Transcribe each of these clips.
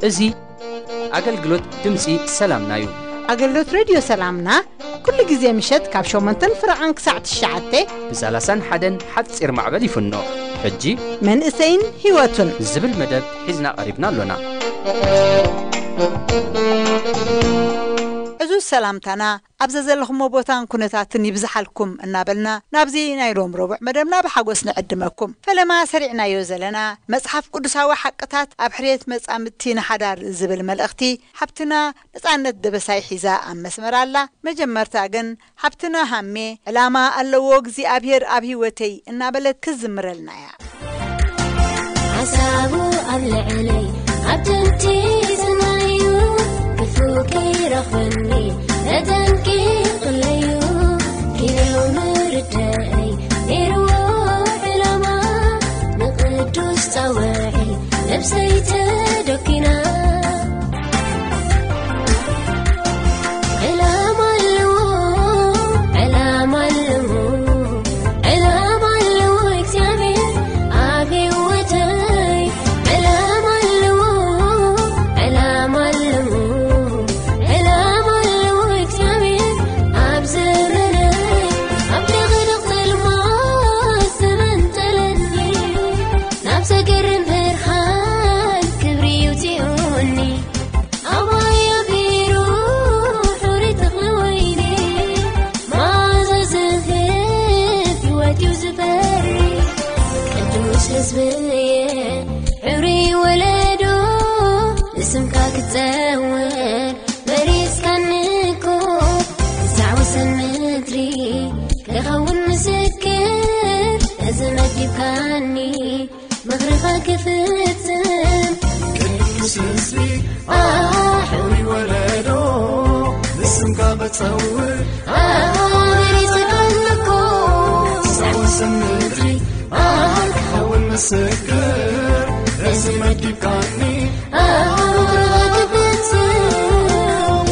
እዚ ኣገልግሎት ድምፂ ሰላምና እዩ። ኣገልግሎት ሬድዮ ሰላምና ኩሉ ግዜ ምሸት ካብ ሸሞንተን ፍረቓን ክሳዕ ትሽዓተ ብ ሰላሳን ሓደን ሓፂር ማዕበል ይፍኖ። ሕጂ መንእሰይን ህይወቱን ዝብል መደብ ሒዝና ቀሪብና ኣሎና። ዕዙዝ ሰላምታና ኣብ ዘዘለኹሞ ቦታን ኩነታትን ይብዝሓልኩም እናበልና፣ ናብዚ ናይ ሎም ረቡዕ መደብና ብሓጎስ ንዕድመኩም። ፈለማ ሰሪዕናዮ ዘለና መጽሓፍ ቅዱሳዊ ሓቅታት ኣብ ሕርየት መጻምድቲ ንሓዳር ዝብል መልእኽቲ፣ ሓብትና ነጻነት ደበሳይ ሒዛ ኣብ መስመር ኣላ። መጀመርታ ግን ሓብትና ሃሜ፣ ዕላማ ኣለዎ እግዚኣብሔር ኣብ ህይወተይ እናበለት ክዝምረልና እያ። ሓሳቡ ኣብ ልዕለይ ኣብ ጥንቲ ዝናዩ፣ ክፉእ ከይረኽበኒ ተጠንቂቕለዩ። ኪንዮ ምርዳእይ ነይርዎ ዕላማ፣ ንቅዱስ ጻውዒ ነብሰይ ተደኪና። ዕላማ ኣለዎ፣ ዕላማ ኣለዎ፣ ዕላማ ኣለዎ እግዚኣብሔር ኣብ ህይወተይ። ዕላማ ኣለዎ፣ ዕላማ ኣለዎ፣ ዕላማ ኣለዎ እግዚኣብሔር ኣብ ዘመነይ። ኣብ ድቕድቕ ጸልማት ዘመንጠለኒ፣ ናብ ዘገርም ብርሃን ክብሪ ይውጽኡኒ። ኣባይ ኣቢሩ ሕሩይ ተኽሊ ወይኒ፣ መዓዛ ዝህብ ህይወት እዩ ዝበሪ። ቅዱስ ህዝብየ፣ ሕሩይ ወለዶ፣ ንስምካ ክጸውር መሪጽካኒ እኮ። ክሳዕ ወሰን ምድሪ ክኸውን ምስክር፣ እዚ መዲብካኒ ምኽርኻ ክፍጽም። ቅዱስ ህዝቢ፣ ኣሃ፣ ሕሩይ ወለዶ፣ ንስምካ ክጸውር፣ ኣሃ፣ መሪጽካኒ እኮ። ክሳዕ ወሰን ምድሪ፣ ኣሃ፣ ክኸውን ምስክር፣ እዚ መዲብካኒ። ኣሃ፣ ምኽርኻ ክፍጽም።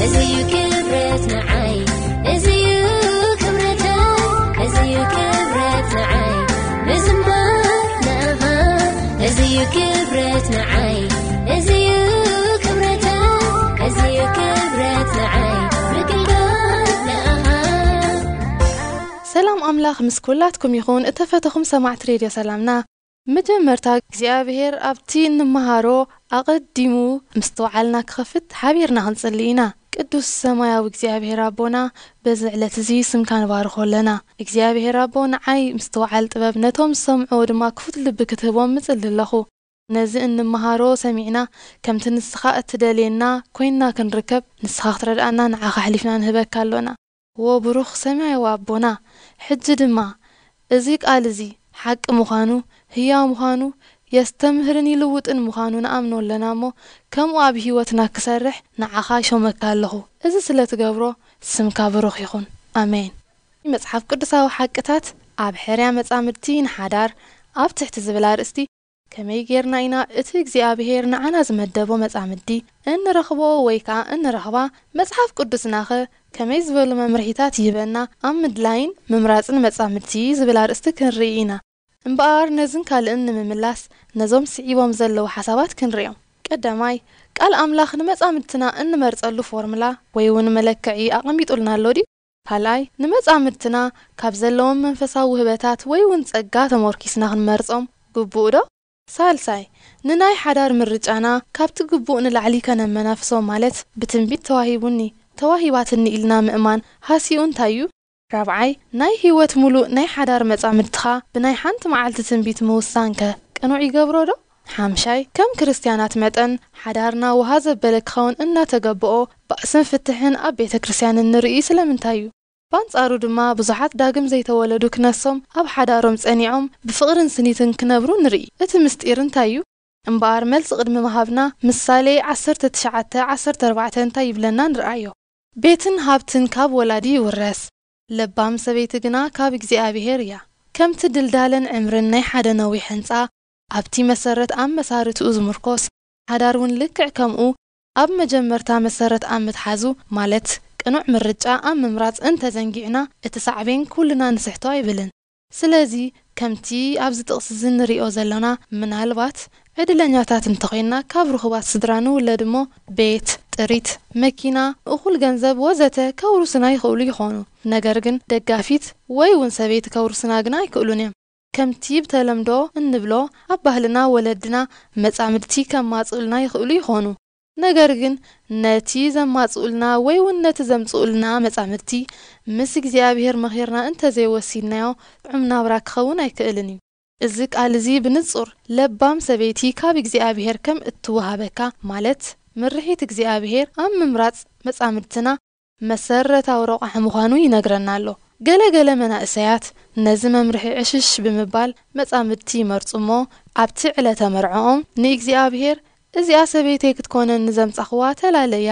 እዚ እዩ ክብረት ንዓይ፣ እዚ እዩ ክብረተይ፣ እዚ እዩ ክብረት ንዓይ፣ ምዝማር ንኣኻ። እዚ እዩ ክብረት ንዓይ፣ እዚ እዩ ክብረተይ፣ እዚ እዩ ክብረት ንዓይ፣ ምግልጋል ንኣኻ። ሰላም ኣምላኽ ምስ ኩላትኩም ይኹን፣ እተፈተኹም ሰማዕቲ ሬድዮ ሰላምና። መጀመርታ እግዚኣብሔር ኣብቲ እንመሃሮ ኣቐዲሙ ምስትውዓልና ክኸፍት ሓቢርና ክንጽሊ ኢና። ቅዱስ ሰማያዊ እግዚኣብሔር ኣቦና፣ በዚ ዕለት እዚ ስምካ ንባርኾ ኣለና። እግዚኣብሔር ኣቦ፣ ንዓይ ምስትውዓል ጥበብ፣ ነቶም ዝሰምዕዎ ድማ ክፉት ልቢ ክትህቦም ምጽሊ ኣለኹ። ነዚ እንመሃሮ ሰሚዕና፣ ከምቲ ንስኻ እትደልየና ኮይንና ክንርከብ፣ ንስኻ ክትረድኣና ንዓኻ ኣሕሊፍና ንህበካ ኣሎና። ዎ ብሩኽ ሰማያዊ ኣቦና፣ ሕጂ ድማ እዚ ቃል እዚ ሓቂ ምዃኑ፣ ህያው ምዃኑ፣ የስተምህርን ይልውጥን ምዃኑ ንኣምኖ ኣለና እሞ፣ ከምኡ ኣብ ህይወትና ክሰርሕ ንዓኻ ይሾመካ ኣለኹ። እዚ ስለ ትገብሮ፣ ስምካ ብሩኽ ይኹን። ኣሜን። መጽሓፍ ቅዱሳዊ ሓቅታት ኣብ ሕርያ መጻምድቲ ንሓዳር ኣብ ትሕቲ ዝብል ኣርእስቲ፣ ከመይ ጌርና ኢና እቲ እግዚኣብሄር ንዓና ዝመደቦ መጻምዲ እንረኽቦ ወይ ከኣ እንረኽባ? መጽሓፍ ቅዱስናኸ ከመይ ዝበሉ መምርሒታት ይህበና ኣብ ምድላይን ምምራጽን መጻምድቲ ዝብል ኣርእስቲ ክንርኢ ኢና። እምበኣር ነዝን ካልእን ንምምላስ ነዞም ስዒቦም ዘለዉ ሓሳባት ክንርእዮም። ቀዳማይ፣ ቃል ኣምላኽ ንመጻምድትና እንመርጸሉ ፎርምላ ወይ እውን መለክዒ ኣቐሚጡልና ኣሎ ድዩ? ካልኣይ፣ ንመጻምድትና ካብ ዘለዎም መንፈሳዊ ውህበታት ወይ እውን ጸጋ ተሞርኪስና ክንመርጾም ግቡእ ዶ? ሳልሳይ፣ ንናይ ሓዳር ምርጫና ካብቲ ግቡእ ንላዕሊ ከነመናፍሶ ማለት ብትንቢት ተዋሂቡኒ፣ ተዋሂባትኒ ኢልና ምእማን ሃሲኡ እንታይ እዩ? ራብዓይ፣ ናይ ህይወት ሙሉእ ናይ ሓዳር መጻምድትኻ ብናይ ሓንቲ መዓልቲ ትንቢት ምውሳንከ ቅኑዕ ይገብሮ ዶ? ሓምሻይ፣ ከም ክርስትያናት መጠን ሓዳርና ውሃ ዘበለ ክኸውን እናተገብኦ ባእስን ፍትሕን ኣብ ቤተ ክርስትያንን ንርኢ ስለምንታይ እዩ? ባንጻሩ ድማ ብዙሓት ዳግም ዘይተወለዱ ክነሶም ኣብ ሓዳሮም ጸኒዖም ብፍቕርን ስኒትን ክነብሩ ንርኢ። እቲ ምስጢር እንታይ እዩ? እምበኣር መልሲ ቅድሚ ምሃብና ምሳሌ ዓሰርተ ትሽዓተ ዓሰርተ ኣርባዕተ እንታይ ይብለና ንርኣዮ። ቤትን ሃብትን ካብ ወላዲ ይውረስ፣ ለባም ሰበይቲ ግና ካብ እግዚኣብሄር እያ። ከምቲ ድልዳለን ዕምርን ናይ ሓደ ነዊሕ ህንጻ፣ ኣብቲ መሰረት ኣብ መሳርትኡ ዝምርኮስ ሓዳር እውን ልክዕ ከምኡ ኣብ መጀመርታ መሰረት ኣብ ምትሓዙ፣ ማለት ቅኑዕ ምርጫ ኣብ ምምራጽ እንተዘንጊዕና፣ እቲ ሳዕቤን ኩልና ንስሕቶ ኣይብልን። ስለዚ፣ ከምቲ ኣብዚ ጥቕሲ እዚ ንሪኦ ዘሎና፣ ምናልባት ዕድለኛታት እንተኾይንና፣ ካብ ርኹባት ስድራ ንውለድ እሞ፣ ቤት፣ ጥሪት፣ መኪና፣ እኹል ገንዘብ ወዘተ ከውርሱና ይኽእሉ ይኾኑ። ነገር ግን ደጋፊት ወይ እውን ሰበይቲ ከውርሱና ግና ኣይክእሉን እዮም። ከምቲ ብተለምዶ እንብሎ፣ ኣብ ባህልና ወለድና መጻምድቲ ከማጽኡልና ይኽእሉ ይኾኑ። ነገር ግን ነቲ ዘማጽኡልና ወይ እውን ነቲ ዘምጽኡልና መጻምድቲ ምስ እግዚኣብሔር መኺርና እንተዘይወሲድናዮ፣ ጥዑም ናብራ ክኸውን ኣይክእልን እዩ። እዚ ቃል እዚ ብንጹር ለባም ሰበይቲ ካብ እግዚኣብሔር ከም እትወሃበካ፣ ማለት ምርሒት እግዚኣብሔር ኣብ ምምራጽ መጻምድትና መሰረታዊ ረቋሒ ምዃኑ ይነግረና ኣሎ። ገለ ገለ መናእሰያት ነዚ መምርሒ ዕሽሽ ብምባል መጻምድቲ ይመርጹ እሞ፣ ኣብቲ ዕለተ መርዕኦም ንእግዚኣብሔር፣ "እዚኣ ሰበይተይ ክትኮነኒ ዘምጻኽዋ ተላለያ"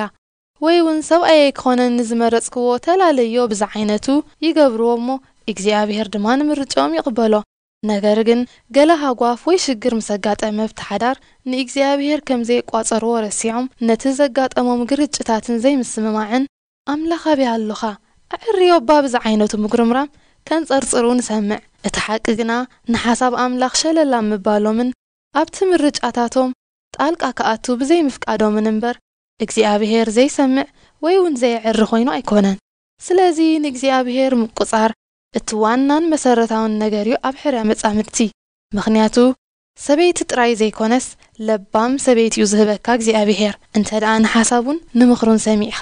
ወይ እውን "ሰብኣየይ ክኾነኒ ዝመረጽክዎ ተላለዮ" ብዝዓይነቱ ይገብርዎ እሞ፣ እግዚኣብሔር ድማ ንምርጫኦም ይቕበሎ። ነገር ግን ገለ ሃጓፍ ወይ ሽግር ምስ ኣጋጠመ ኣብቲ ሓዳር፣ ንእግዚኣብሔር ከም ዘየቋጸርዎ ረሲዖም፣ ነቲ ዘጋጠሞም ግርጭታትን ዘይምስምማዕን፣ "ኣምላኽ ኣበይ ኣሎኻ? ኣዕርዮ" እባ ብዝዓይነቱ ምጉርምራም ከንጸርጽሩ ንሰምዕ። እቲ ሓቂ ግና፣ ንሓሳብ ኣምላኽ ሸለል ኣብ ምባሎምን ኣብቲ ምርጫታቶም ጣልቃ ክኣቱ ብዘይምፍቃዶምን እምበር፣ እግዚኣብሔር ዘይሰምዕ ወይ እውን ዘየዕሪ ኮይኑ ኣይኮነን። ስለዚ ንእግዚኣብሔር ምቁጻር እቲ ዋናን መሰረታውን ነገር እዩ ኣብ ሕርያ መጻምድቲ። ምኽንያቱ ሰበይቲ ጥራይ ዘይኮነስ ለባም ሰበይቲ እዩ ዝህበካ እግዚኣብሔር፣ እንተ ደኣ ንሓሳቡን ንምኽሩን ሰሚዕኻ።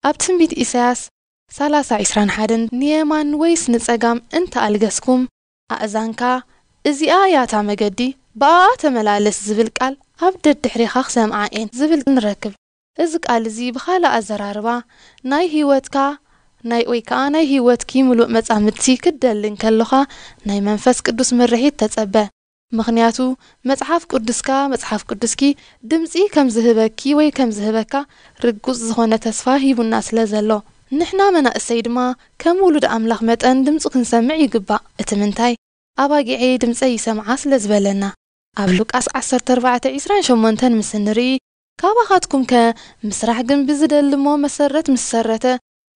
ኣብ ትንቢት ኢሳያስ ሠላሳ ዕስራን ሓደን "ንየማን ወይስ ንጸጋም እንተ ኣልገስኩም፣ ኣእዛንካ፣ 'እዚኣ እያ እታ መገዲ፣ ብኣኣ ተመላለስ' ዝብል ቃል ኣብ ደድሕሬኻ ክሰምዓ እየን" ዝብል ንረክብ። እዚ ቃል እዚ ብኻልእ ኣዘራርባ ናይ ህይወትካ ናይ ወይ ከኣ ናይ ህይወትኪ ምሉእ መጻምድቲ ክትደሊ እንከለኻ ናይ መንፈስ ቅዱስ ምርሒት ተጸበ። ምኽንያቱ መጽሓፍ ቅዱስካ፣ መጽሓፍ ቅዱስኪ ድምጺ ከም ዝህበኪ ወይ ከም ዝህበካ ርጉጽ ዝኾነ ተስፋ ሂቡና ስለ ዘሎ። ንሕና መናእሰይ ድማ ከም ውሉድ ኣምላኽ መጠን ድምጹ ክንሰምዕ ይግባእ። እቲ ምንታይ? "ኣባጊዐይ ድምጸይ ይሰምዓ" ስለ ዝበለና። ኣብ ሉቃስ ዓሰርተ ኣርባዕተ ዕስራን ሸሞንተን ምስ እንርኢ፣ "ካባኻትኩም ከ ምስራሕ ግንቢ ዝደሊ እሞ መሰረት ምስ ሰረተ፣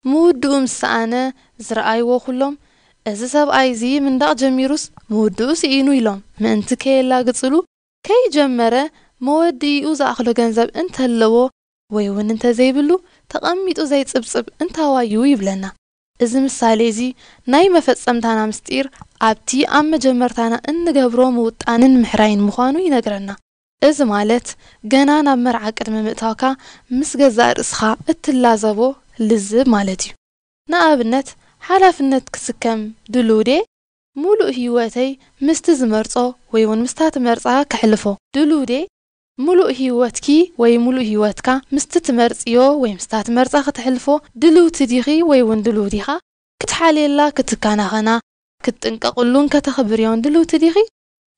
ምውድኡ ምስ ሰኣነ ዝረኣይዎ ኩሎም፣ 'እዚ ሰብኣይ እዚ ምንዳቕ ጀሚሩስ ምውድኡ ስኢኑ' ኢሎም ምእንቲ ከየላግጽሉ፣ ከይጀመረ መወድኢኡ ዝኣኽሎ ገንዘብ እንተለዎ ወይ እውን እንተዘይብሉ፣ ተቐሚጡ ዘይጽብጽብ እንታዋዩ" ይብለና። እዚ ምሳሌ እዚ ናይ መፈጸምታና ምስጢር ኣብቲ ኣብ መጀመርታና እንገብሮ ምውጣንን ምሕራይን ምዃኑ ይነግረና። እዚ ማለት ገና ናብ መርዓ ቅድሚ ምእታውካ ምስ ገዛእ ርእስኻ እትላዘቦ ልዝብ ማለት እዩ። ንኣብነት፣ ሓላፍነት ክስከም ድሉው ድየ? ምሉእ ህይወተይ ምስቲ ዝመርጾ ወይ እውን ምስታ ትመርጻ ከሕልፎ ድሉው ድየ? ምሉእ ህይወትኪ ወይ ምሉእ ህይወትካ ምስቲ ትመርጽዮ ወይ ምስታ ትመርጻ ከተሕልፎ ድልውቲ ዲኺ ወይ እውን ድሉው ዲኻ? ክትሓልየላ፣ ክትከናኸና፣ ክትጥንቀቕሉን ከተኽብርዮን ድልውቲ ዲኺ?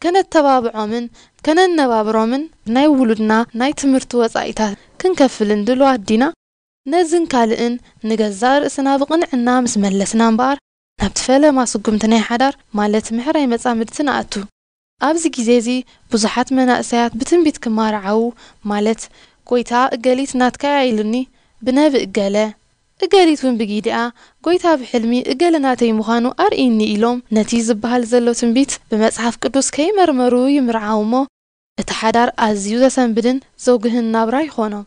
ከነተባብዖምን ከነነባብሮምን ናይ ውሉድና ናይ ትምህርቲ ወጻኢታት ክንከፍልን ድሉዋት ዲና? ነዝን ካልእን ንገዛእ ርእስና ብቕንዕና ምስ መለስና እምበኣር፣ ናብቲ ፈለማ ስጉምቲ ናይ ሓዳር፣ ማለት ምሕራይ መጻምድቲ ንኣቱ። ኣብዚ ግዜ እዚ ብዙሓት መናእሰያት ብትንቢት ክማርዓዉ፣ ማለት "ጐይታ፣ እገሊት ናትካ እያ" ኢሉኒ፣ ብነብእ እገለ፣ እገሊት እውን ብጊዲኣ "ጐይታ፣ ብሕልሚ እገለ ናተይ ምዃኑ ኣርእይኒ" ኢሎም ነቲ ዝበሃል ዘሎ ትንቢት ብመጽሓፍ ቅዱስ ከይመርመሩ ይምርዓዉ እሞ፣ እቲ ሓዳር ኣዝዩ ዘሰንብድን ዘጉህን ናብራ ይኾኖም።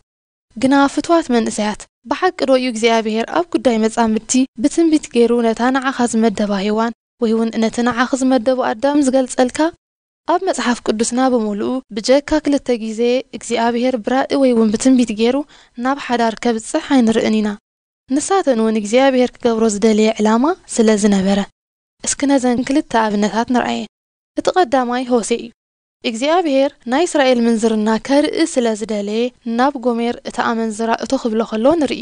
ግና ፍቱዋት መንእሰያት፣ ብሓቂ ዶ እዩ እግዚኣብሔር ኣብ ጉዳይ መጻምድቲ ብትንቢት ገይሩ ነታ ንዓኻ ዝመደባ ሄዋን ወይ እውን ነቲ ንዓኺ ዝመደቦ ኣዳም ዝገልጸልካ? ኣብ መጽሓፍ ቅዱስና ብምሉኡ ብጀካ ክልተ ግዜ እግዚኣብሔር ብራኢ ወይ እውን ብትንቢት ገይሩ ናብ ሓዳር ከብጽሕ ኣይንርእን ኢና። ንሳተን እውን እግዚኣብሔር ክገብሮ ዝደለየ ዕላማ ስለ ዝነበረ። እስኪ ነዘን ክልተ ኣብነታት ንርኣየን። እቲ ቀዳማይ ሆሴእ እዩ። እግዚኣብሔር ናይ እስራኤል ምንዝርና ከርኢ ስለ ዝደለየ ናብ ጎሜር እታ ኣመንዝራ እቶ ክብሎ ከሎ ንርኢ።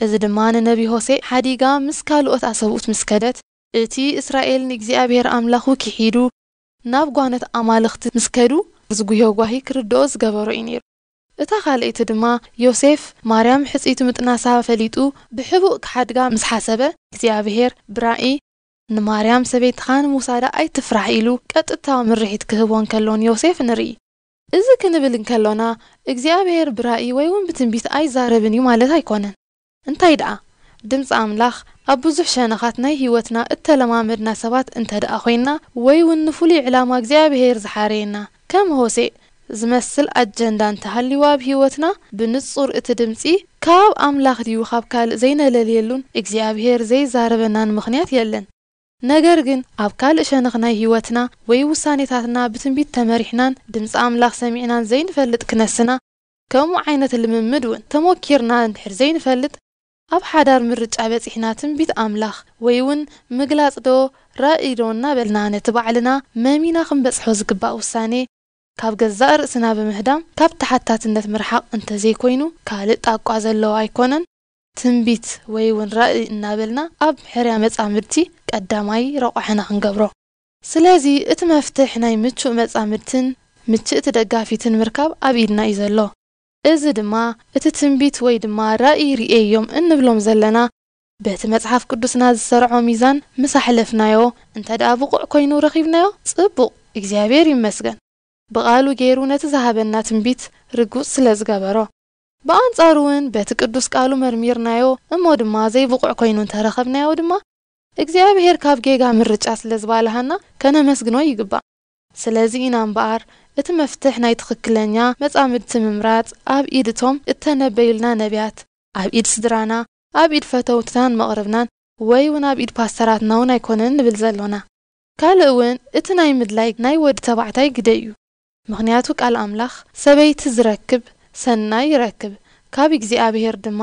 እዚ ድማ ንነቢ ሆሴእ ሓዲጋ ምስ ካልኦት ኣሰብኡት ምስ ከደት፣ እቲ እስራኤል ንእግዚኣብሔር ኣምላኹ ክሒዱ ናብ ጓኖት ኣማልኽቲ ምስ ከዱ ዝጉህዮ ጓሂ ክርድኦ ዝገበሮ እዩ ነይሩ። እታ ካልኣይቲ ድማ ዮሴፍ ማርያም ሕጽይቱ ምጥናሳ ፈሊጡ ብሕቡእ ክሓድጋ ምስ ሓሰበ እግዚኣብሔር ብራኢ ንማርያም ሰበይትኻ ንምውሳዳ ኣይትፍራሕ ኢሉ ቀጥታዊ ምርሒት ክህቦ እንከሎን ዮሴፍ ንርኢ። እዚ ክንብል እንከሎና እግዚኣብሔር ብራእይ ወይ እውን ብትንቢት ኣይዛረብን እዩ ማለት ኣይኮነን። እንታይ ደኣ ድምፂ ኣምላኽ ኣብ ብዙሕ ሸነኻት ናይ ህይወትና እተለማመድና ሰባት እንተ ደኣ ኮይንና ወይ እውን ንፍሉይ ዕላማ እግዚኣብሔር ዝሓረየና ከም ሆሴእ ዝመስል ኣጀንዳ እንተሃልዩ ኣብ ህይወትና ብንጹር እቲ ድምፂ ካብ ኣምላኽ ድዩ ካብ ካልእ ዘይነለልየሉን እግዚኣብሔር ዘይዛረበናን ምኽንያት የለን። ነገር ግን ኣብ ካልእ ሸነኽ ናይ ህይወትና ወይ ውሳኔታትና ብትንቢት ተመሪሕናን ድምፂ ኣምላኽ ሰሚዕናን ዘይንፈልጥ ክነስና ከምኡ ዓይነት ልምምድ እውን ተሞኪርና እንድሕር ዘይንፈልጥ ኣብ ሓዳር ምርጫ በፂሕና ትንቢት ኣምላኽ ወይ እውን ምግላፅ ዶ ራእይ ዶ እናበልና ነቲ ባዕልና መሚና ክንበፅሖ ዝግባእ ውሳኔ ካብ ገዛእ ርእስና ብምህዳም ካብ ተሓታትነት ምርሓቕ እንተዘይኮይኑ ካልእ ጣቋ ዘለዎ ኣይኮነን። ትንቢት ወይ እውን ራእይ እናበልና ኣብ ሕርያ መጻምድቲ ቀዳማይ ረቋሕና ክንገብሮ። ስለዚ እቲ መፍትሕ ናይ ምቹእ መጻምድትን ምችእቲ ደጋፊትን ምርካብ ኣብ ኢድና እዩ ዘሎ። እዚ ድማ እቲ ትንቢት ወይ ድማ ራእይ ርእየዮም እንብሎም ዘለና በቲ መጽሓፍ ቅዱስና ዝሰርዖ ሚዛን ምስ ኣሕለፍናዮ እንተ ደኣ ብቑዕ ኮይኑ ረኺብናዮ ጽቡቕ እግዚኣብሔር ይመስገን። ብቓሉ ገይሩ ነቲ ዝሃበና ትንቢት ርጉጽ ስለ ዝገበሮ። ብኣንጻሩ እውን በቲ ቅዱስ ቃሉ መርሚርናዮ እሞ ድማ ዘይብቑዕ ኮይኑ እንተረኸብናዮ ድማ እግዚኣብሔር ካብ ጌጋ ምርጫ ስለ ዝባልሃና ከነመስግኖ ይግባእ። ስለዚ ኢና እምበኣር እቲ መፍትሕ ናይ ትኽክለኛ መጻምድቲ ምምራጽ ኣብ ኢድ እቶም እተነበዩልና ነቢያት፣ ኣብ ኢድ ስድራና፣ ኣብ ኢድ ፈተውትናን መቕርብናን ወይ እውን ኣብ ኢድ ፓስተራትና እውን ኣይኮነን ንብል ዘሎና። ካልእ እውን እቲ ናይ ምድላይ ናይ ወዲ ተባዕታይ ግደ እዩ። ምኽንያቱ ቃል ኣምላኽ ሰበይቲ ዝረክብ ሰናይ ይረክብ፣ ካብ እግዚኣብሔር ድማ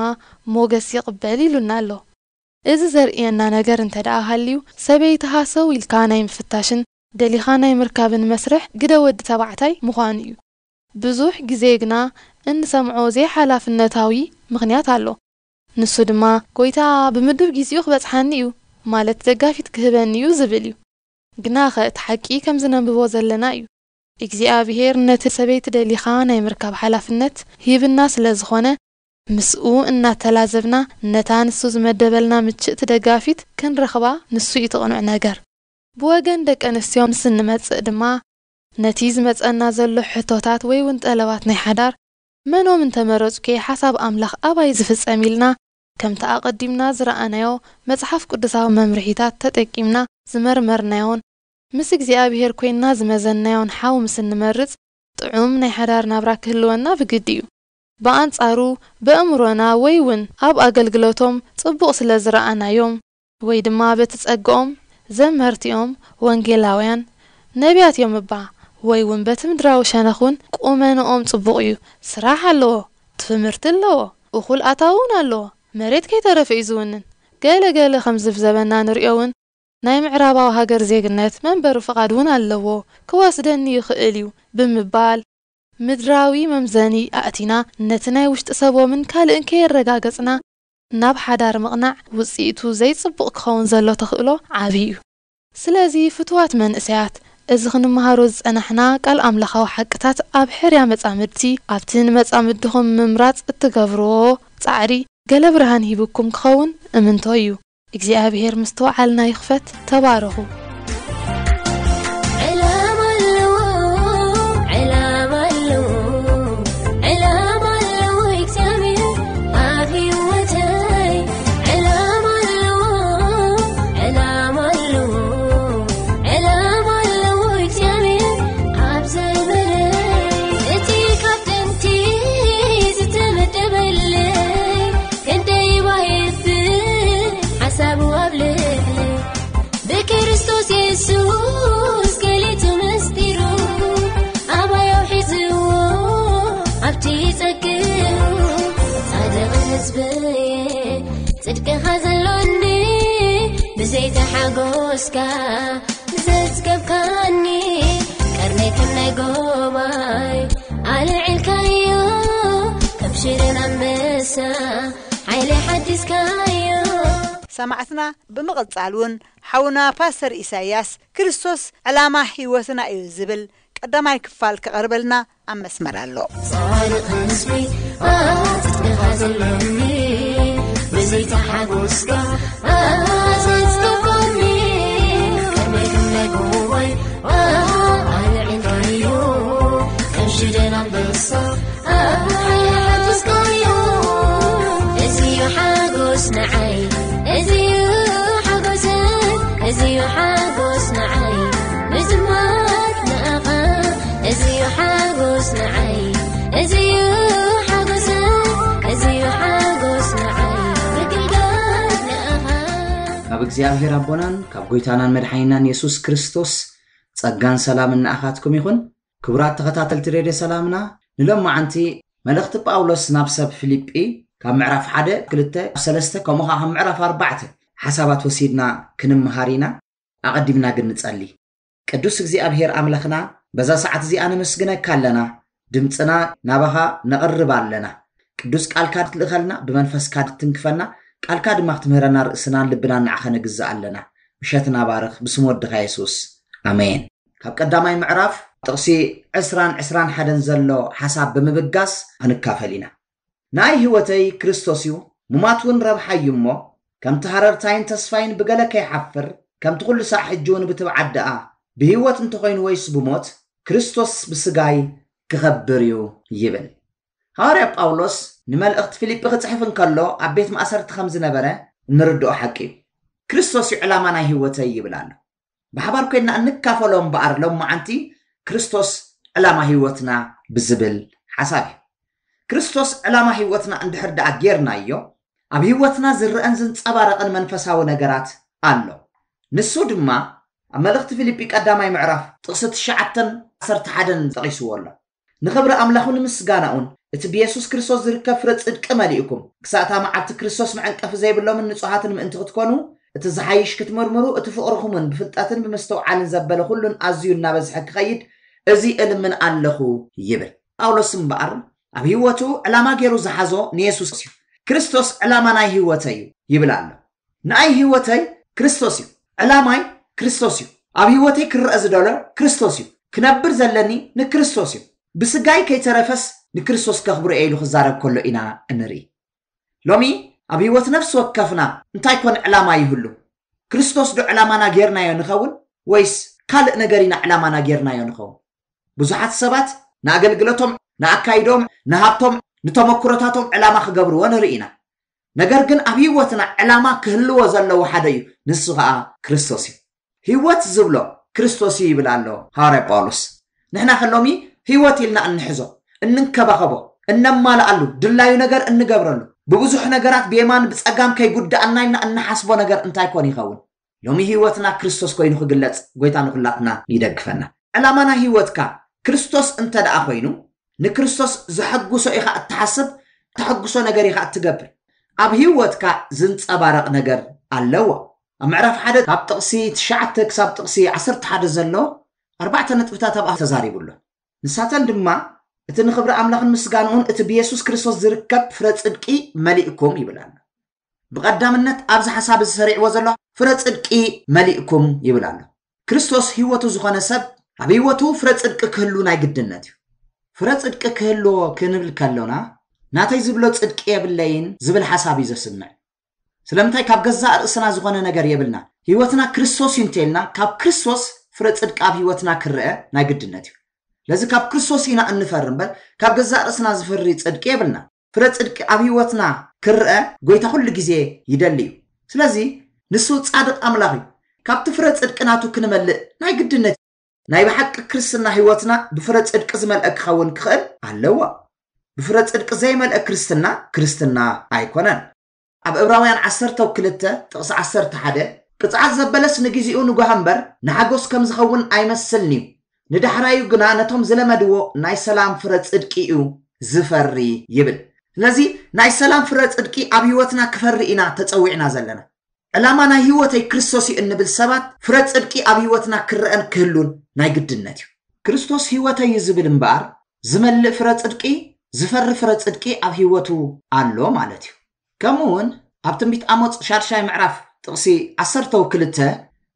ሞገስ ይቕበል ኢሉና ኣሎ። እዚ ዘርእየና ነገር እንተ ደኣ ሃልዩ ሰበይቲ ሃሰው ኢልካ ናይ ምፍታሽን ደሊኻ ናይ ምርካብን መስርሕ ግደ ወዲ ተባዕታይ ምዃኑ እዩ። ብዙሕ ግዜ ግና እንሰምዖ ዘይሓላፍነታዊ ምኽንያት ኣሎ። ንሱ ድማ ጎይታ ብምድብ ግዜኡ ክበጽሓኒ እዩ ማለት ደጋፊት ክህበኒ እዩ ዝብል እዩ። ግናኸ እቲ ሓቂ ከም ዝነንብቦ ዘለና እዩ። እግዚኣብሔር ነቲ ሰበይቲ ደሊኻ ናይ ምርካብ ሓላፍነት ሂብና ስለ ዝኾነ ምስኡ እናተላዘብና ነታ ንሱ ዝመደበልና ምችእቲ ደጋፊት ክንረኽባ ንሱ እዩ እቲ ቅኑዕ ነገር። ብወገን ደቂ ኣንስትዮ ምስ እንመጽእ ድማ ነቲ ዝመጸና ዘሎ ሕቶታት ወይ እውን ጠለባት ናይ ሓዳር መኖም እንተመረጹ ከ ሓሳብ ኣምላኽ ኣባይ ዝፍጸም ኢልና ከምቲ ኣቐዲምና ዝረኣናዮ መጽሓፍ ቅዱሳዊ መምርሒታት ተጠቂምና ዝመርመርናዮን ምስ እግዚኣብሔር ኮይንና ዝመዘንናዮን ሓው ምስ እንመርጽ ጥዑም ናይ ሓዳር ናብራ ክህልወና ብግዲ እዩ። ብኣንጻሩ ብእምሮና ወይ እውን ኣብ ኣገልግሎቶም ጽቡቕ ስለ ዝረኣናዮም ወይ ድማ በቲ ጸግኦም ዘመርቲኦም ወንጌላውያን ነቢያት እዮም እባ ወይ እውን በቲ ምድራዊ ሸነኽ እውን ቁመንኦም ጽቡቕ እዩ፣ ስራሕ ኣለዎ፣ ትምህርቲ ኣለዎ፣ እኹል ኣታዊ እውን ኣለዎ፣ መሬት ከይተረፈ እዩ ዝውንን፣ ገለ ገለ ከም ዝብዘበና ንሪኦ እውን ናይ ምዕራባዊ ሃገር ዜግነት መንበሪ ፍቓድ እውን ኣለዎ፣ ክወስደኒ ይኽእል እዩ ብምባል ምድራዊ መምዘኒ ኣእቲና ነቲ ናይ ውሽጢ ሰቦምን ካልእን ከየረጋገጽና ናብ ሓዳር ምቕናዕ ውጽኢቱ ዘይጽቡቕ ክኸውን ዘሎ ተኽእሎ ዓቢ እዩ። ስለዚ ፍቱዋት መንእሰያት፣ እዚ ክንመሃሮ ዝጸናሕና ቃል ኣምላኻዊ ሓቅታት ኣብ ሕርያ መጻምድቲ ኣብቲ ንመጻምድኹም ምምራጽ እትገብርዎ ጻዕሪ ገለ ብርሃን ሂብኩም ክኸውን እምንቶ እዩ። እግዚኣብሔር ምስትውዓልና ይኽፈት። ተባረኹ። ዕላማ ኣለዎ፣ ዕላማ ኣለዎ፣ ዕላማ ኣለዎ እግዚኣብሔር ኣብ ህይወተይ። ዕላማ ኣለዎ፣ ዕላማ ኣለዎ፣ ዕላማ ኣለዎ እግዚኣብሔር ኣብ ዘመነይ። እቲ ካብ ጥንቲ ዝተመደበለይ ክንደይ ባየፍር ሓሳቡ ኣብ ልዕለይ። ብክርስቶስ የሱስ ገሊጹ ምስጢሩ ኣባይ ኣውሒዝዎ ኣብቲ ጸግኡ። ጻድቕ ህዝበየ ጽድቅኻ ዘሎኒ ብዘይቲ ሓጎስካ ዘጽገብካኒ ቀርነይ ከም ናይ ጎባይ ኣልዒልካዮ ከም ሽደን ኣንበሳ ሓይሊ ሓዲስካዮ። ሰማዕትና ብምቕጻል እውን ሓውና ፓስተር ኢሳይያስ ክርስቶስ ዕላማ ህይወትና እዩ ዝብል ቀዳማይ ክፋል ክቐርበልና ኣብ መስመር ኣሎ። ጻድቕ ህዝቢ ኣጽድኻ ዘለኒ ብዘይታ ሓጎስካ ኣዘዝከቦኒ ሽደን ኣንበሳ ኣቦይ ሓጎስካዮ። እዚዩ ሓጎስ ንዓይ፣ እዚዩ ሓጎሰይ፣ እዚዩ ሓጎስ ንዓይ። ምዝማር ንኣኻ፣ እዚዩ ሓጎስ ንዓይ፣ እዚዩ ሓጎሰይ፣ እዚዩ ሓጎስ ንዓይ። ምግልጋል ንኣኻ። ካብ እግዚኣብሔር ኣቦናን ካብ ጎይታናን መድሓኒናን የሱስ ክርስቶስ ጸጋን ሰላምን ንኣኻትኩም ይኹን። ክቡራት ተኸታተልቲ ሬድዮ ሰላምና፣ ንሎማዓንቲ መልእኽቲ ጳውሎስ ናብ ሰብ ፊልጲ ካብ ምዕራፍ ሓደ፣ ክልተ፣ ሰለስተ፣ ከምኡ ኸዓ ካብ ምዕራፍ ኣርባዕተ ሓሳባት ወሲድና ክንምሃር ኢና። ኣቐዲምና ግን ንጸሊ። ቅዱስ እግዚኣብሔር ኣምላኽና፣ በዛ ሰዓት እዚኣ ነመስግነካ ኣለና፣ ድምፅና ናባኻ ነቕርብ ኣለና። ቅዱስ ቃልካ ትልእኸልና፣ ብመንፈስካ ትትንክፈና፣ ቃልካ ድማ ክትምህረና ርእስናን ልብናን ንዓኻ ነግዝእ ኣለና። ምሸትና ባርኽ፣ ብስም ወድኻ የሱስ። ኣሜን። ካብ ቀዳማይ ምዕራፍ ጥቕሲ ዕስራን ዕስራን ሓደን ዘሎ ሓሳብ ብምብጋስ ክንካፈል ኢና። ንኣይ ህይወተይ ክርስቶስ እዩ፣ ሙማት እውን ረብሓ እዩ እሞ፣ ከምቲ ሃረርታይን ተስፋይን ብገለ ከይሓፍር፣ ከምቲ ኩሉ ሳዕ ሕጂ እውን ብትብዓት ደኣ፣ ብህይወት እንተኾይኑ ወይስ ብሞት፣ ክርስቶስ ብስጋይ ክኸብር እዩ ይብል። ሃዋርያ ጳውሎስ ንመልእኽቲ ፊልጲ ክጽሕፍ እንከሎ ኣብ ቤት ማእሰርቲ ከም ዝነበረ እንርድኦ ሓቂ እዩ። ክርስቶስ እዩ ዕላማ ናይ ህይወተይ ይብል ኣሎ። ብሓባር ኮይንና እንካፈሎ እምበኣር ሎማዓንቲ ክርስቶስ ዕላማ ህይወትና ብዝብል ሓሳብ እዩ። ክርስቶስ ዕላማ ህይወትና እንድሕር ደኣ ጌርናዮ፣ ኣብ ህይወትና ዝረአን ዝንጸባረቕን መንፈሳዊ ነገራት ኣሎ። ንሱ ድማ ኣብ መልእኽቲ ፊልጲ ቀዳማይ ምዕራፍ ጥቕሲ ትሽዓተን ዓሰርተ ሓደን ጠቒስዎ ኣሎ። ንኽብሪ ኣምላኹ ንምስጋናኡን እቲ ብየሱስ ክርስቶስ ዝርከብ ፍረ ጽድቂ መሊእኩም፣ ክሳእ እታ መዓልቲ ክርስቶስ መዐንቀፊ ዘይብሎምን ንጹሃትን ምእንቲ ክትኮኑ፣ እቲ ዝሓይሽ ክትምርምሩ፣ እቲ ፍቕርኹምን ብፍልጠትን ብምስትውዓልን ዘበለ ኩሉን ኣዝዩ እናበዝሐ ክኸይድ፣ እዚ እልምን ኣለኹ ይብል። ጳውሎስ እምበኣር ኣብ ህይወቱ ዕላማ ገይሩ ዝሓዞ ንየሱስ እዩ። ክርስቶስ ዕላማ ናይ ህይወተይ እዩ ይብል ኣሎ። ንኣይ ህይወተይ ክርስቶስ እዩ። ዕላማይ ክርስቶስ እዩ። ኣብ ህይወተይ ክረአ ዝደሎ ክርስቶስ እዩ። ክነብር ዘለኒ ንክርስቶስ እዩ። ብስጋይ ከይተረፈስ ንክርስቶስ ከኽብሮ እየ ኢሉ ክዛረብ ከሎ ኢና እንርኢ። ሎሚ ኣብ ህይወት ነፍሲ ወከፍና እንታይ ኮን ዕላማ ይህሉ? ክርስቶስ ዶ ዕላማና ጌርናዮ ንኸውን? ወይስ ካልእ ነገር ኢና ዕላማና ጌርናዮ ንኸውን? ብዙሓት ሰባት ንኣገልግሎቶም፣ ንኣካይዶም፣ ንሃብቶም፣ ንተመክሮታቶም ዕላማ ክገብርዎ ንርኢ ኢና። ነገር ግን ኣብ ህይወትና ዕላማ ክህልዎ ዘለዎ ሓደ እዩ፣ ንሱ ኸኣ ክርስቶስ እዩ። ህይወት ዝብሎ ክርስቶስ እዩ ይብል ኣሎ ሃዋርያ ጳውሎስ። ንሕና ከ ሎሚ ህይወት ኢልና እንሕዞ፣ እንንከባኸቦ፣ እነማልኣሉ፣ ድላዩ ነገር እንገብረሉ፣ ብብዙሕ ነገራት ብየማን ብጸጋም ከይጉድኣና ኢልና እንሓስቦ ነገር እንታይ ኮን ይኸውን? ሎሚ ህይወትና ክርስቶስ ኮይኑ ክግለጽ ጎይታ ንኹላትና ይደግፈና። ዕላማ ናይ ህይወትካ ክርስቶስ እንተ ደኣ ኮይኑ፣ ንክርስቶስ ዘሐጉሶ ኢኻ እትሓስብ፣ እተሐጉሶ ነገር ኢኻ እትገብር። ኣብ ህይወትካ ዝንጸባረቕ ነገር ኣለዎ። ኣብ ምዕራፍ ሓደ ካብ ጥቕሲ ትሽዓተ ክሳብ ጥቕሲ ዓሰርተ ሓደ ዘሎ ኣርባዕተ ነጥብታት ኣብኣ ተዛሪቡ ኣሎ። ንሳተን ድማ፣ እቲ ንኽብሪ ኣምላኽን ምስጋንኡን እቲ ብየሱስ ክርስቶስ ዝርከብ ፍረ ጽድቂ መሊእኩም ይብል ኣሎ። ብቐዳምነት ኣብዚ ሓሳብ እዚ ሰሪዕዎ ዘሎ ፍረ ጽድቂ መሊእኩም ይብል ኣሎ። ክርስቶስ ህይወቱ ዝኾነ ሰብ ኣብ ህይወቱ ፍረ ጽድቂ ክህሉ ናይ ግድነት እዩ። ፍረ ጽድቂ ክህልዎ ክንብል ከሎና፣ ናተይ ዝብሎ ጽድቂ የብለይን ዝብል ሓሳብ እዩ ዘስምዕ። ስለምንታይ? ካብ ገዛእ ርእስና ዝኾነ ነገር የብልና። ህይወትና ክርስቶስ እዩ እንተልና፣ ካብ ክርስቶስ ፍረ ጽድቂ ኣብ ህይወትና ክረአ ናይ ግድነት እዩ። ስለዚ ካብ ክርስቶስ ኢና እንፈሪ እምበር፣ ካብ ገዛእ ርእስና ዝፈሪ ጽድቂ የብልና። ፍረ ጽድቂ ኣብ ህይወትና ክረአ ጎይታ ኩሉ ግዜ ይደሊ እዩ። ስለዚ ንሱ ጻድቕ ኣምላኽ እዩ። ካብቲ ፍረ ጽድቂ ናቱ ክንመልእ ናይ ግድነት እዩ። ናይ ብሓቂ ክርስትና ህይወትና ብፍረ ጽድቂ ዝመልአ ክኸውን ክኽእል ኣለዎ። ብፍረ ጽድቂ ዘይመልአ ክርስትና፣ ክርስትና ኣይኮነን። ኣብ ዕብራውያን ዓሰርተ ክልተ ጥቕሲ ዓሰርተ ሓደ፣ "ቅጽዓት ዘበለስ ንግዜኡ ንጓህ እምበር፣ ንሓጎስ ከም ዝኸውን ኣይመስልን እዩ። ንዳሕራዩ ግና ነቶም ዝለመድዎ ናይ ሰላም ፍረ ጽድቂ እዩ ዝፈሪ" ይብል። ስለዚ ናይ ሰላም ፍረ ጽድቂ ኣብ ህይወትና ክፈሪ ኢና ተጸዊዕና ዘለና። ዕላማ ናይ ህይወተይ ክርስቶስ እዩ እንብል ሰባት፣ ፍረ ጽድቂ ኣብ ህይወትና ክረአን ክህሉን ናይ ግድነት እዩ። ክርስቶስ ህይወተይ እዩ ዝብል እምበኣር፣ ዝመልእ ፍረ ጽድቂ፣ ዝፈሪ ፍረ ጽድቂ ኣብ ህይወቱ ኣሎ ማለት እዩ። ከምኡ እውን ኣብ ትንቢት ኣሞጽ ሻድሻይ ምዕራፍ ጥቕሲ ዓሰርተ ክልተ፣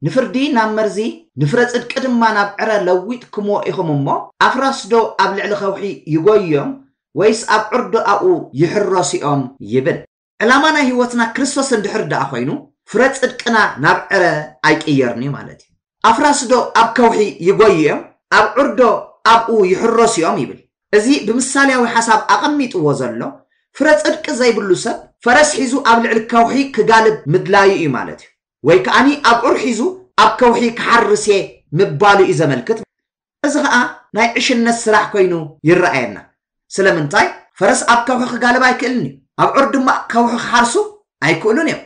"ንፍርዲ ናብ መርዚ፣ ንፍረ ጽድቂ ድማ ናብ ዕረ ለዊጥኩምዎ ኢኹም እሞ፣ ኣፍራስ ዶ ኣብ ልዕሊ ከውሒ ይጎዮም፣ ወይስ ኣብ ዑር ዶ ኣብኡ ይሕረሱ እዮም?" ይብል። ዕላማ ናይ ህይወትና ክርስቶስ እንድሕር ደኣ ኮይኑ፣ ፍረ ጽድቅና ናብ ዕረ ኣይቅየርን እዩ ማለት እዩ። ኣፍራስ ዶ ኣብ ከውሒ ይጎዩ እዮም? ኣብ ዑር ዶ ኣብኡ ይሕረሱ እዮም? ይብል። እዚ ብምሳሌያዊ ሓሳብ ኣቐሚጥዎ ዘሎ፣ ፍረ ጽድቂ ዘይብሉ ሰብ ፈረስ ሒዙ ኣብ ልዕሊ ከውሒ ክጋልብ ምድላዩ እዩ ማለት እዩ። ወይ ከኣኒ ኣብዑር ሒዙ ኣብ ከውሒ ክሓርስ እየ ምባሉ እዩ ዘመልክት። እዚ ኸኣ ናይ ዕሽነት ስራሕ ኮይኑ ይረኣየና። ስለምንታይ? ፈረስ ኣብ ከውሒ ክጋልብ ኣይክእልን እዩ። ኣብዑር ድማ ከውሒ ክሓርሱ ኣይክእሉን እዮም።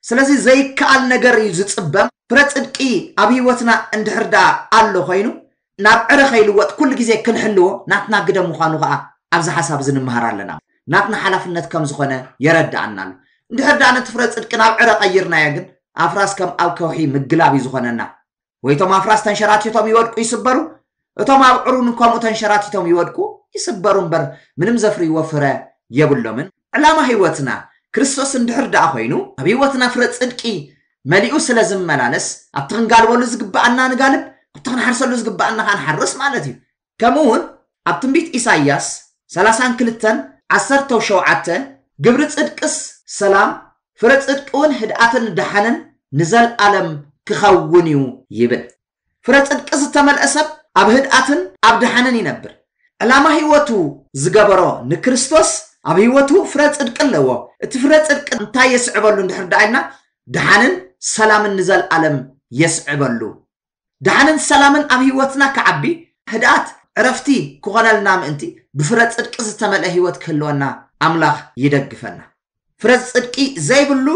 ስለዚ ዘይከኣል ነገር እዩ ዝጽበም። ፍረ ጽድቂ ኣብ ህይወትና እንድሕር ደኣ ኣሎ ኮይኑ፣ ናብ ዕረ ከይልወጥ ኩሉ ግዜ ክንሕልዎ ናትና ግደ ምዃኑ ኸኣ ኣብዚ ሓሳብ እዚ ንምሃር ኣለና። ናትና ሓላፍነት ከም ዝኾነ የረድኣና ኣሎ። እንድሕር ደኣ ነቲ ፍረ ጽድቂ ናብ ዕረ ቀይርናዮ ግን፣ ኣፍራስ ከም ኣብ ከውሒ ምግላብ እዩ ዝኾነና። ወይ እቶም ኣፍራስ ተንሸራቲቶም ይወድቁ ይስበሩ፣ እቶም ኣብዑር እውን ከምኡ ተንሸራቲቶም ይወድቁ ይስበሩ እምበር፣ ምንም ዘፍርይዎ ፍረ የብሎምን። ዕላማ ህይወትና ክርስቶስ እንድሕር ደኣ ኮይኑ፣ ኣብ ህይወትና ፍረ ጽድቂ መሊኡ ስለ ዝመላለስ፣ ኣብቲ ክንጋልበሉ ዝግብኣና ንጋልብ፣ ኣብቲ ክንሓርሰሉ ዝግብኣና ኸኣ ንሓርስ ማለት እዩ። ከምኡ እውን ኣብ ትንቢት ኢሳይያስ ሠላሳን ክልተን ዓሰርተው ሸውዓተ፣ ግብሪ ጽድቅስ ሰላም፣ ፍረ ጽድቂ እውን ህድኣትን ደሓንን ንዘልኣለም ክኸውን እዩ ይብል። ፍረ ጽድቂ ዝተመልአ ሰብ ኣብ ህድኣትን ኣብ ደሓንን ይነብር። ዕላማ ህይወቱ ዝገበሮ ንክርስቶስ ኣብ ህይወቱ ፍረ ጽድቂ ኣለዎ። እቲ ፍረ ጽድቂ እንታይ የስዕበሉ እንድሕር ደኣ ኢልና፣ ደሓንን ሰላምን ንዘልኣለም የስዕበሉ። ደሓንን ሰላምን ኣብ ህይወትና ክዓቢ፣ ህድኣት ዕረፍቲ ክኾነልና ምእንቲ ብፍረ ጽድቂ ዝተመልአ ህይወት ክህልወና ኣምላኽ ይደግፈና። ፍረ ጽድቂ ዘይብሉ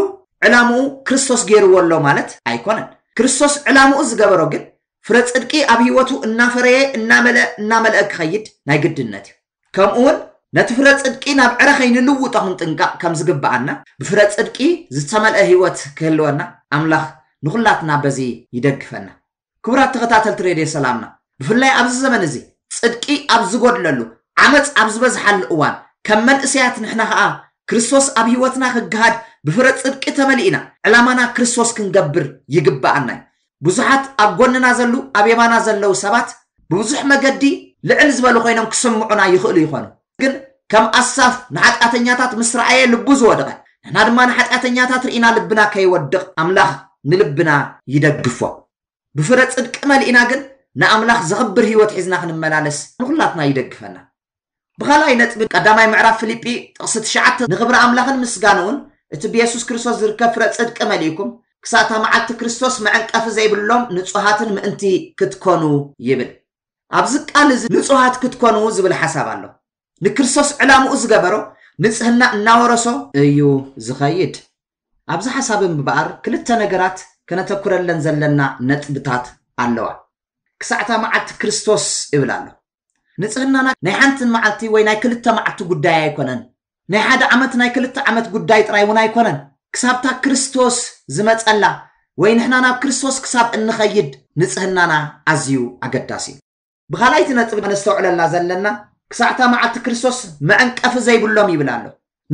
ዕላምኡ ክርስቶስ ገይርዎ ኣሎ ማለት ኣይኮነን። ክርስቶስ ዕላምኡ ዝገበሮ ግን ፍረ ጽድቂ ኣብ ህይወቱ እናፈረየ እናመልአ እናመልአ ክኸይድ ናይ ግድነት እዩ። ከምኡ እውን ነቲ ፍረ ጽድቂ ናብ ዕረ ከይንልውጦ ክንጥንቀቕ ከም ዝግብኣና፣ ብፍረ ጽድቂ ዝተመልአ ህይወት ክህልወና ኣምላኽ ንኹላትና በዚ ይደግፈና። ክቡራት ተኸታተልቲ ሬድዮ ሰላምና፣ ብፍላይ ኣብዚ ዘመን እዚ ጽድቂ ኣብ ዝጎድለሉ፣ ዓመጽ ኣብ ዝበዝሓሉ እዋን፣ ከም መንእሰያት ንሕና ኸኣ ክርስቶስ ኣብ ህይወትና ክገሃድ ብፍረ ጽድቂ ተመሊእና ዕላማና ክርስቶስ ክንገብር ይግብኣና እዩ። ብዙሓት ኣብ ጎንና ዘሉ ኣብ የማና ዘለዉ ሰባት ብብዙሕ መገዲ ልዕል ዝበሉ ኮይኖም ክስምዑና ይኽእሉ ይኾኑ። ግን ከም ኣሳፍ ንሓጢኣተኛታት ምስ ረኣየ ልቡ ዝወደቐ፣ ንሕና ድማ ንሓጢኣተኛታት ርኢና ልብና ከይወድቕ ኣምላኽ ንልብና ይደግፎ። ብፍረ ጽድቂ መሊእና ግን ንኣምላኽ ዘኽብር ህይወት ሒዝና ክንመላለስ ንኹላትና ይደግፈና። ብኻልኣይ ነጥቢ ቀዳማይ ምዕራፍ ፊልጲ ጥቕሲ ትሽዓተ ንኽብሪ ኣምላኽን ምስጋንኡን እቲ ብየሱስ ክርስቶስ ዝርከብ ፍረ ጽድቂ መሊእኩም ክሳእታ መዓልቲ ክርስቶስ መዐንቀፊ ዘይብሎም ንጹሃትን ምእንቲ ክትኮኑ ይብል። ኣብዚ ቃል እዚ ንጹሃት ክትኮኑ ዝብል ሓሳብ ኣሎ። ንክርስቶስ ዕላምኡ ዝገበሮ ንጽህና እናወረሶ እዩ ዝኸይድ። ኣብዚ ሓሳብ እምበኣር ክልተ ነገራት ከነተኩረለን ዘለና ነጥብታት ኣለዋ። ክሳዕታ መዓልቲ ክርስቶስ እብል ኣሎ። ንጽህናና ናይ ሓንቲ መዓልቲ ወይ ናይ ክልተ መዓልቲ ጉዳይ ኣይኮነን። ናይ ሓደ ዓመት ናይ ክልተ ዓመት ጉዳይ ጥራይ እውን ኣይኮነን። ክሳብታ ክርስቶስ ዝመጸላ ወይ ንሕና ናብ ክርስቶስ ክሳብ እንኸይድ ንጽህናና ኣዝዩ ኣገዳሲ እዩ። ብኻልኣይቲ ነጥቢ ነስተውዕለላ ዘለና ክሳዕታ መዓልቲ ክርስቶስ መዐንቀፊ ዘይብሎም ይብል ኣሎ።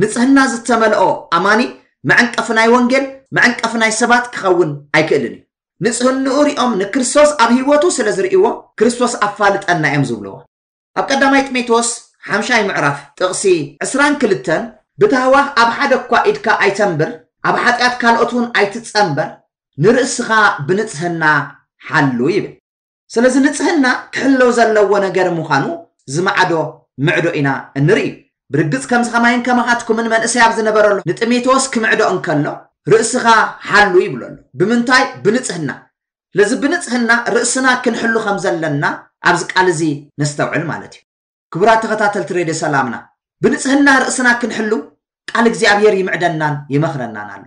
ንጽህና ዝተመልኦ ኣማኒ መዐንቀፊ ናይ ወንጌል መዐንቀፊ ናይ ሰባት ክኸውን ኣይክእልን እዩ። ንጽህንኡ ሪኦም ንክርስቶስ ኣብ ህይወቱ ስለ ዝርእይዎ ክርስቶስ ኣፋልጠና እዮም ዝብልዎ። ኣብ ቀዳማይ ጢሞቴዎስ ሓምሻይ ምዕራፍ ጥቕሲ ዕስራን ክልተን ብታህዋኽ ኣብ ሓደ እኳ ኢድካ ኣይተንብር፣ ኣብ ሓጢኣት ካልኦት እውን ኣይትጸንበር፣ ንርእስኻ ብንጽህና ሓሉ ይብል። ስለዚ ንጽህና ክሕለው ዘለዎ ነገር ምዃኑ ዝማዕዶ ምዕዶ ኢና እንርኢ። ብርግጽ ከምዚ ከማይን ከማኻትኩምን መንእሰይ ኣብ ዝነበረሉ ንጢሞቴዎስ ክምዕዶ እንከሎ ርእስኻ ሓሉ ይብሎ ኣሎ። ብምንታይ? ብንጽህና። ስለዚ ብንጽህና ርእስና ክንሕሉ ከም ዘለና ኣብዚ ቃል እዚ ነስተውዕል ማለት እዩ። ክቡራት ተኸታተልቲ ሬድዮ ሰላምና፣ ብንጽህና ርእስና ክንሕሉ ቃል እግዚኣብሔር ይምዕደናን ይመኽረናን ኣሎ።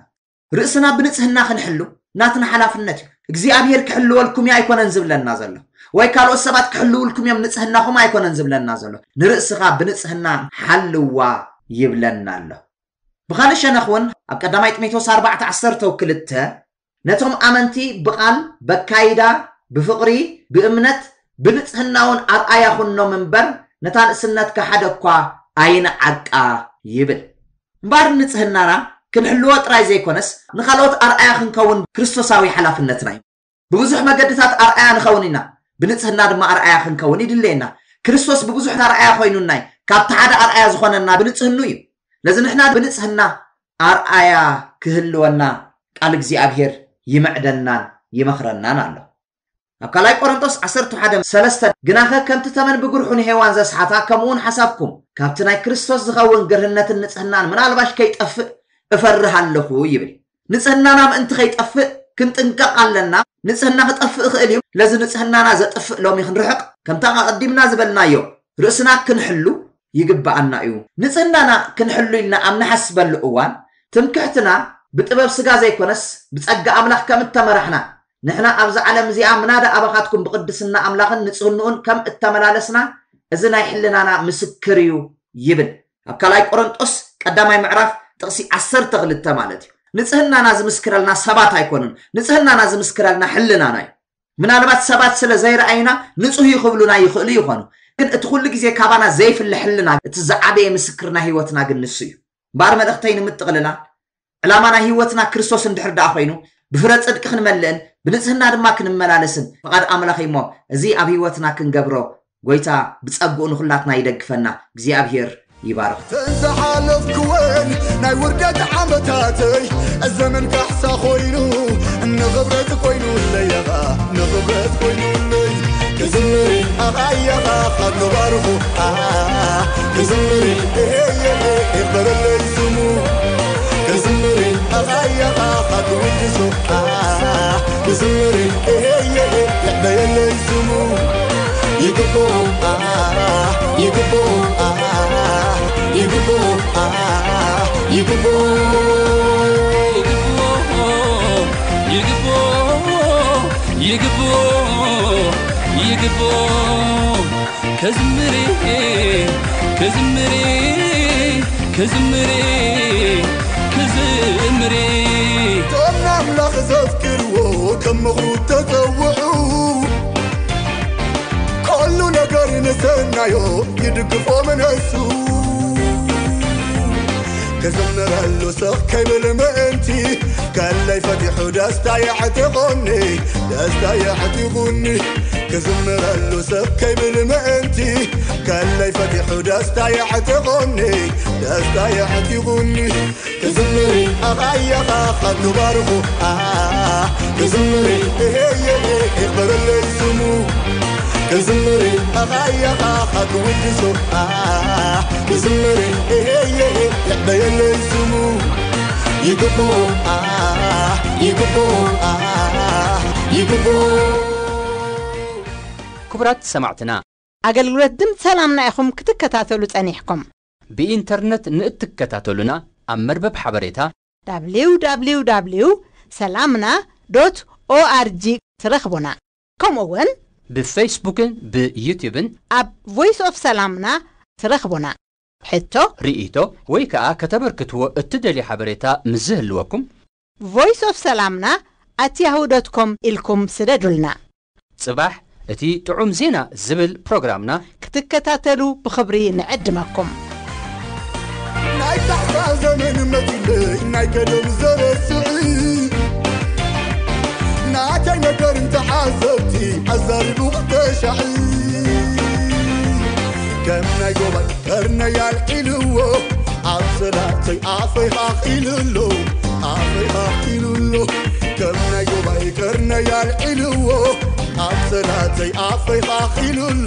ርእስና ብንጽህና ክንሕሉ ናትና ሓላፍነት እዩ። እግዚኣብሔር ክሕልወልኩም እዩ ኣይኮነን ዝብለና ዘሎ፣ ወይ ካልኦት ሰባት ክሕልውልኩም እዮም ንጽህናኹም ኣይኮነን ዝብለና ዘሎ። ንርእስኻ ብንጽህና ሓልዋ ይብለና ኣሎ። ብኻልእ ሸነኽ እውን ኣብ ቀዳማይ ጢሞቴዎስ ኣርባዕተ ዓሰርተ ክልተ ነቶም ኣመንቲ ብቓል፣ በካይዳ፣ ብፍቕሪ፣ ብእምነት፣ ብንጽህና እውን ኣርኣያ ኩኖም እምበር ነታ ንእስነትካ ሓደ እኳ ኣይንዓቃ ይብል። እምበኣር ንጽህናና ክንሕልዎ ጥራይ ዘይኮነስ ንኻልኦት ኣርኣያ ክንከውን ክርስቶሳዊ ሓላፍነትና እዩ። ብብዙሕ መገድታት ኣርኣያ ንኸውን ኢና፣ ብንጽህና ድማ ኣርኣያ ክንከውን ይድለየና። ክርስቶስ ብብዙሕ ኣርኣያ ኮይኑና እዩ። ካብቲ ሓደ ኣርኣያ ዝኾነና ብንጽህኑ እዩ። ስለዚ ንሕና ብንጽህና ኣርኣያ ክህልወና ቃል እግዚኣብሔር ይምዕደናን ይመኽረናን ኣሎ። ኣብ ካልኣይ ቆሮንቶስ ዓሰርተ ሓደ ሰለስተ፣ ግናኸ ከምቲ ተመን ብግርሑ ንሄዋን ዘስሓታ፣ ከምኡ እውን ሓሳብኩም ካብቲ ናይ ክርስቶስ ዝኸውን ግርህነትን ንጽህናን ምናልባሽ ከይጠፍእ እፈርህ ኣለኹ ይብል። ንጽህናና ምእንቲ ከይጠፍእ ክንጥንቀቕ ኣለና። ንጽህና ክጠፍእ ይኽእል እዩ። ለዚ ንጽህናና ዘጥፍእ ሎሚ ክንርሕቕ፣ ከምታ ኣቐዲምና ዝበልናዮ፣ ርእስና ክንሕሉ ይግብኣና እዩ። ንጽህናና ክንሕሉ ኢልና ኣብ ንሓስበሉ እዋን፣ ትምክሕትና ብጥበብ ስጋ ዘይኮነስ ብጸጋ ኣምላኽ ከም እተመራሕና፣ ንሕና ኣብዛ ዓለም እዚኣ ምናዳ ኣባኻትኩም ብቕድስና ኣምላኽን ንጽህንኡን ከም እተመላለስና፣ እዚ ናይ ሕልናና ምስክር እዩ ይብል። ኣብ ካልኣይ ቆሮንጦስ ቀዳማይ ምዕራፍ ጥቕሲ ዓሰርተ ክልተ ማለት እዩ። ንጽህናና ዝምስክረልና ሰባት ኣይኮኑን። ንጽህናና ዝምስክረልና ሕልናና እዩ። ምናልባት ሰባት ስለ ዘይረኣዩና ንጹህ እዩ ክብሉና ይኽእሉ ይኾኑ። ግን እቲ ኩሉ ግዜ ካባና ዘይፍለ ሕልና፣ እቲ ዝዓበየ ምስክር ናይ ህይወትና ግን ንሱ እዩ። እምበኣር መልእኽተይ ንምጥቕልላ፣ ዕላማ ናይ ህይወትና ክርስቶስ እንድሕር ደኣ ኮይኑ፣ ብፍረ ጽድቂ ክንመልእን ብንጽህና ድማ ክንመላለስን ፍቓድ ኣምላኽ እዩ እሞ፣ እዚ ኣብ ህይወትና ክንገብሮ ጎይታ ብጸግኡ ንኹላትና ይደግፈና። እግዚኣብሔር ይባርኽ። ተንዝሓለፍክወን ናይ ውርደት ዓመታተይ፣ ዘመን ካሕሳ ኮይኑ፣ ንኽብረት ኮይኑለይ፣ ንኽብረት ኮይኑለይ። ክዝምር ኣኻያኻ፣ ክባርኹ፣ ክዝምር፣ ክበረለይ ስሙ። ክዝምር ኣኻያኻ፣ ክውድሱ፣ ክዝምር፣ ይዕበየለይ ስሙ። ይግብኦ፣ ይግብኦ፣ ይግብኦ፣ ይግብኦ። ይግብኦ፣ ይግብኦ፣ ይግብኦ፣ ይግብኦ። ከዝምር፣ ከዝምር፣ ከዝምር፣ ከዝምር። እቶም ንኣምላኽ ዘፍቅርዎ ከም ምኽሩ ተጸውዑ፣ ኩሉ ነገር ንሰናዮ ይድግፎ ምነሱ። ክዝምረሉ ስቕ ከይብል ምእንቲ፣ ከለይ ፈቲሑ ደስታ የዕጢቑኒ፣ ደስታ የዕጢቑኒ። ክዝምረሉ ስቕ ከይብል ምእንቲ፣ ከለይ ፈቲሑ ደስታ የዕጢቑኒ፣ ደስታ የዕጢቑኒ። ክዝምር ኣኻያኻ፣ ክባርኹ፣ ክዝምር፣ ክበረለይ ስሙ። ክዝምር ኣኻያኻ፣ ክውድሱ፣ ክዝምር፣ ይዕበየለይ ስሙ። ይግብኦ፣ ይግብኦ፣ ይግብኦ። ክቡራት ሰማዕትና፣ ኣገልግሎት ድምፂ ሰላምና ኢኹም ክትከታተሉ ጸኒሕኩም። ብኢንተርነት ንእትከታተሉና፣ ኣብ መርበብ ሓበሬታ www ሰላምና ዶት ኦኣርጂ ትረኽቡና። ከምኡ እውን ብፌስቡክን ብዩትዩብን ኣብ ቮይስ ኦፍ ሰላምና ትረኽቡና። ሕቶ፣ ርእይቶ ወይ ከኣ ከተበርክትዎ እትደልዩ ሓበሬታ ምስ ዝህልወኩም፣ ቮይስ ኦፍ ሰላምና ኣት ያሁ ዶት ኮም ኢልኩም ስደዱልና። ጽባሕ እቲ ጥዑም ዜና ዝብል ፕሮግራምና ክትከታተሉ ብኽብሪ ንዕድመኩም። ናይ ካሕሳ ዘመን መጺለይ፣ ናይ ቀደም ዘረስዕ፣ ናተይ ነገር እንተሓሰብቲ ኣዛሪቡ ክተሻዕ፣ ከም ናይ ጎባይ ከርነይ ኣልዒልዎ፣ ኣብ ሰላተይ ኣፈይ ሃኽ ኢሉሎ፣ ኣፈይ ሃኽ ኢሉሎ። ከም ናይ ጎባይ ከርነይ ኣልዒልዎ፣ ኣብ ሰላተይ ኣፈይ ሃኽ ኢሉሎ፣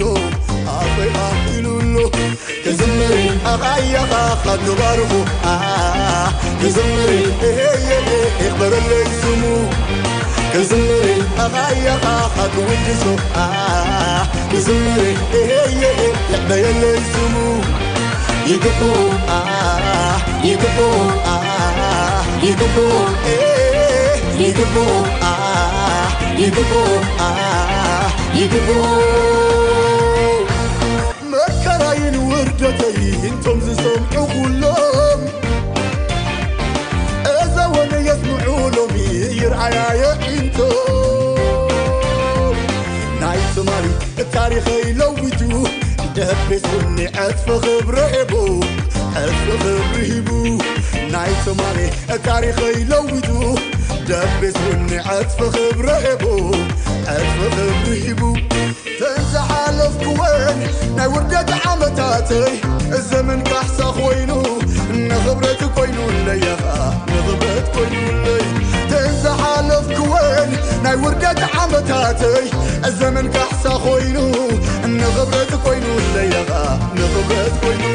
ኣፈይ ሃኽ ኢሉሎ። ክዝምር ኣኻያኻ፣ ክባርኹ፣ ክዝምር፣ ክበረለይ ስሙ። ክዝምር ኣኻያኻ፣ ክውድሱ፣ ክዝምር፣ ይዕበየለይ ስሙ። ይግብኦ፣ ይግብኦ፣ ይግብኦ፣ ይግብኦ፣ ይግብኦ፣ ይግብኦ። መከራይን ውርደተይን ቶም ዝሰምዑ ኩሎም፣ እዛ ወነ የስምዑ ሎሚ ይርኣያ የዒንቶ። ናይ ትማሊ ታሪኸይ ለዊጡ፣ ደቤት ቡኒ ዕጥፊ ክብሪ ሂቡ፣ ዕጥፊ ክብሪ ሂቡ። ናይ ትማሊ ታሪኸይ ለዊጡ፣ ደቤት ቡኒ ዕጥፊ ክብሪ ሂቡ፣ ዕጥፊ ክብሪ ሂቡ። ተን ዝሓለፍኩወን ናይ ውርደት ዓመታተይ፣ ዘመን ካሕሳ ኮይኑ፣ ንኽብረት ኮይኑለይ፣ ንኽብረት ኮይኑለይ። ተን ዝሓለፍኩወን ናይ ውርደት ዓመታተይ ዘመን ካሕሳ ኮይኑ፣ ንኽብረት ኮይኑ ለየኻ ንኽብረት ኮይኑ